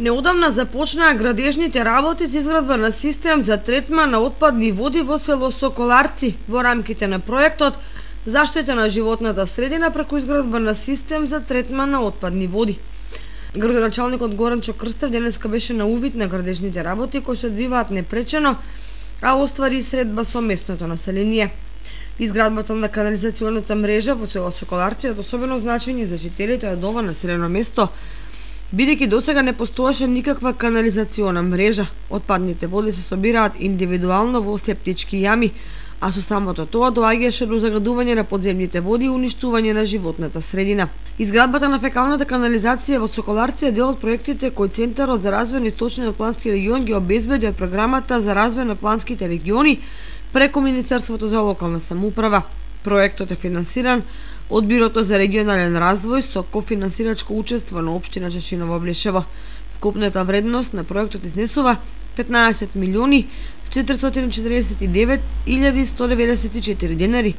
Неодамна започнаа градежните работи за изградба на систем за третман на отпадни води во село Соколарци во рамките на проектот Заштита на животната средина преку изградба на систем за третман на отпадни води. Градоначалникот Горанчо Крстев денеска беше на увид на градежните работи кои се одвиваат непречено, а оствари средба со местното население. Изградбата на канализационата мрежа во село Соколарци е од особено значење за жителите од ова населено место, бидејќи досега не постоеше никаква канализациона мрежа. Отпадните води се собираат индивидуално во септички јами, а со самото тоа доаѓаше до загадување на подземните води и уништување на животната средина. Изградбата на фекалната канализација во Соколарци е дел од проектите кои Центарот за развој на Источниот плански регион ги обезбеди од програмата за развој на планските региони преку Министерството за локална самоуправа. Проектот е финансиран од Бирото за регионален развој со кофинансирачко учество на општина Чешиново-Блешево. Вкупната вредност на проектот изнесува 15.449.194 денари,